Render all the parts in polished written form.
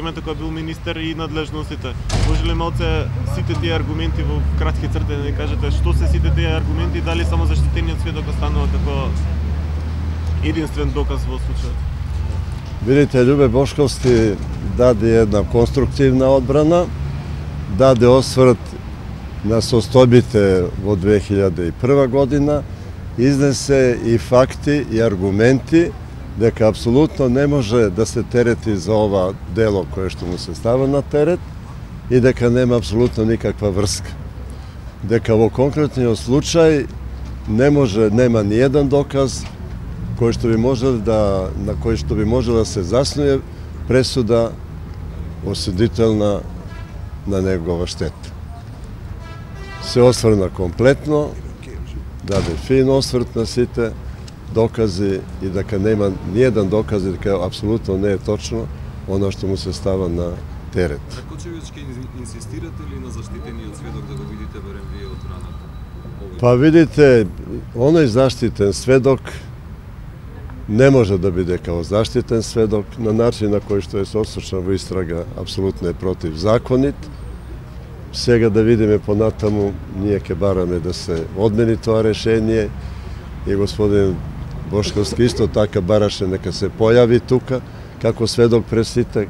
Времето кога бил министер и надлежностите. Може ли малце сите тие аргументи во кратки црти да ни кажете што се сите тие аргументи и дали само заштитениот сведок останува како единствен доказ во случајот? Видите, Љубе Бошковски даде една конструктивна одбрана, даде осврт на состојбите во 2001 година, изнесе и факти и аргументи дека апсолутно не може да се терети за ова дело кое што му се става на терет и дека нема апсолутно никаква врска. Дека во конкретниот случај нема ни еден доказ на кој што би можел да се заснуе пресуда осудителна на негова штета. Се осврна комплетно, даде фин осврт на сите докази и дека нема ни еден доказ и дека апсолутно не е точно она што му се става на терет. Ракочевиќ, ќе инсистирате ли на заштитениот сведок да го видите барем вие од страната? Па видите, оној заштитен сведок не може да биде као заштитен сведок, на начин на кој што е сослушан во истрага, апсолутно е противзаконит. Сега да видиме понатаму, ние ќе бараме да се одмени тоа решение и господин Бошковски исто така бараше нека се појави тука како сведок пред сите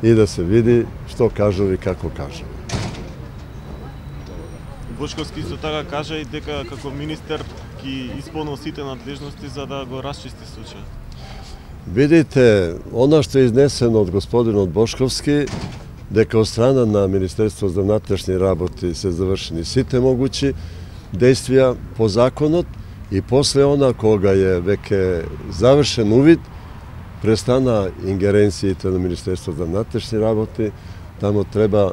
и да се види што кажува и како кажува. Бошковски исто така кажа и дека како министер ќе исполнил сите надлежности за да го расчисти случајот. Видите, она што е изнесено од господинот Бошковски, дека од страна на Министерство за внатрешни работи се завршени сите могучи действија по законот и после она кога е веќе завршен увид, престана ингеренциите на Министерство за внатрешни работи, тамо треба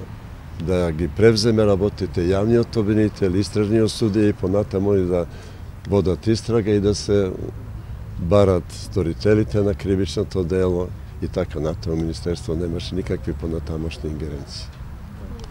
да ги превземе работите јавниот обвинител, истражниот судија и понатамо и да водат истрага и да се барат сторителите на кривичното дело и така натаму Министерство немаше никакви понатамошни ингеренции.